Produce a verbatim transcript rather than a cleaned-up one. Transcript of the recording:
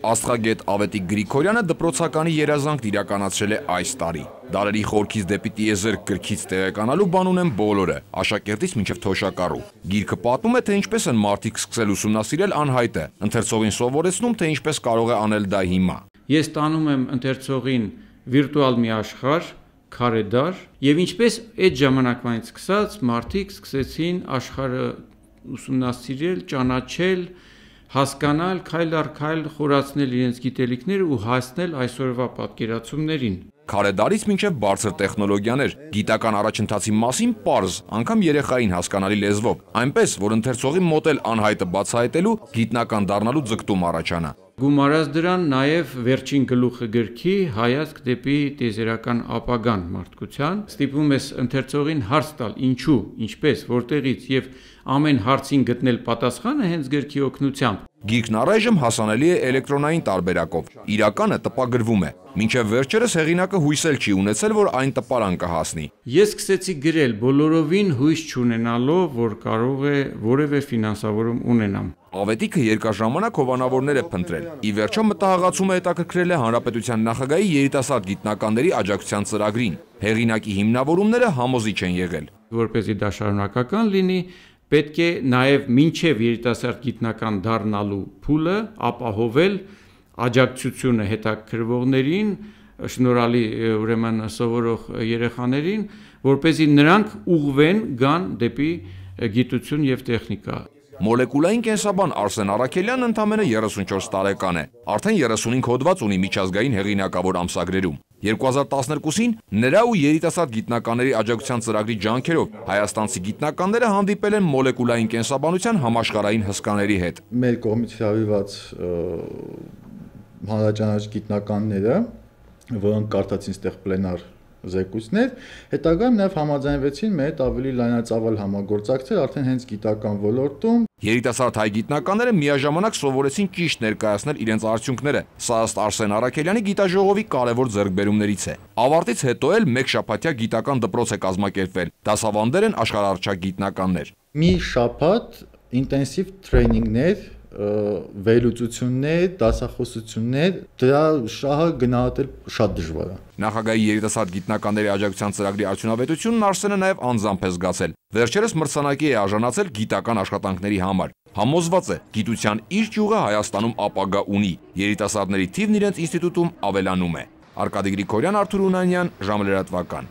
Աստղագետ Ավետիք Գրիգորյանը դպրոցականի երազանքն իրականացրել է այս տարի։ Դարերի խորքից դեպի տիեզերք գրքից տեղեկանալու բան ունեն բոլորը, աշակերտից մինչև թոշակառու։ Գիրքը պատմում է, թե ինչպես են մարդիկ սկսել ուսումնասիրել անհայտը, ընթերցողին սովորեցնում, թե ինչպես կարող է անել դա հիմա։ Ես տանում եմ ընթերցողին վիրտուալ մի աշխարհ, քարեդար, եւ ինչպես այդ ժամանակվանից սկսած մարդիկ սկսեցին աշխարհը ուսումնասիրել, ճանաչել, հասկանալ, քայլ առ քայլ խորացնել իրենց գիտելիքները ու հասնել այսօրվա պատկերացումներին։ Քարեդարից մինչև բարձր տեխնոլոգիաներ, գիտական առաջընթացի մասին պարզ, անգամ երեխային հասկանալի լեզվով, այնպես, որ ընթերցողի մոտ էլ անհայտը բացահայտելու, գիտնական դառնալու ձգտում առաջանա։ Գումարած դրան նաև վերջին գլուխը գրքի հայացք դեպի տիեզերական ապագան մարդկության, ստիպում ես ընթերցողին հարց տալ ինչու, ինչպես, որտեղից եւ ամեն հարցին գտնել պատասխանը հենց գրքի օգնությամբ։ Գիրքն առայժմ հասանելի է էլեկտրոնային տարբերակով, իրականը տպագրվում է, մինչև վերջերս հեղինակը հույս էլ չի ունեցել, որ այն տպարան կհասնի։ Ես սկսեցի գրել բոլորովին հույս չունենալով, որ կարող է որևէ ֆինանսավորում ունենամ։ Ավետիքը երկար ժամանակ հովանավորներ է փնտրել, ի վերջո մտահղացումը հետաքրքրել է Հանրապետության նախագահի երիտասարդ գիտնականների աջակցության ծրագրին։ Հեղինակի հիմնավորումները համոզիչ են եղել։ Որպեսզի դա շարունակական լինի, պետք է նաև մինչև երիտասարդ գիտնական դառնալու փուլը ապահովել աջակցությունը հետաքրքրվողներին, շնորհալի ուրեմն սովորող երեխաներին, որպեսզի նրանք ուղղվեն գան դեպի գիտություն եւ տեխնիկա։ Մոլեկուլային կենսաբան Արսեն Առաքելյանն ընդամենը երեսունչորս տարեկան է, արդեն երեսունհինգ հոդված ունի միջազգային հեղինակավոր ամսագրերում։ երկու հազար տասներկուսին նրա ու երիտասարդ գիտնականների աջակցության ծրագրի ջանքերով հայաստանցի գիտնականները հանդիպել են մոլեկուլային կենսաբանության համաշխարհային հսկաների հետ։ Մեր կողմից հրավիրված հանրաճանաչ գիտնականները, որոնք կարդացին ստեղ պլենար զեկույցներ, հետագայում նաև համաձայնվեցին մեր հետ ավելի լայնածավալ համագործակցել արդեն հենց գիտական ոլորտում։ Երիտասարդ հայ գիտնականները միաժամանակ սովորեցին ճիշտ ներկայացնել իրենց արդյունքները։ Սա ըստ Արսեն Առաքելյանի գիտաժողովի կարևոր ձեռքբերումներից է։ Ավարտից հետո էլ մեկ շաբաթյա գիտական դպրոց է կազմակերպվել։ Դասավանդներ են աշխարհառչակ գիտնականներ։ Մի շաբաթ ինտենսիվ տրեյնինգներ, վերլուծություններ, դասախոսություններ, դրա շահը գնահատել շատ դժվար է։ Նախագահի երիտասարդ գիտնականների աջակցության ծրագրի արդյունավետությունն Արսենը նաև անձամբ է զգացել։ Վերջերս մրցանակի է արժանացել գիտական աշխատանքների համար։ Համոզված է, գիտության իր ճյուղը Հայաստանում ապագա ունի։ Երիտասարդների թիվն իրենց ինստիտուտում ավելանում է։ Արկադի Գրիգորյան, Արթուր Ունանյան, ժամը լրատվական։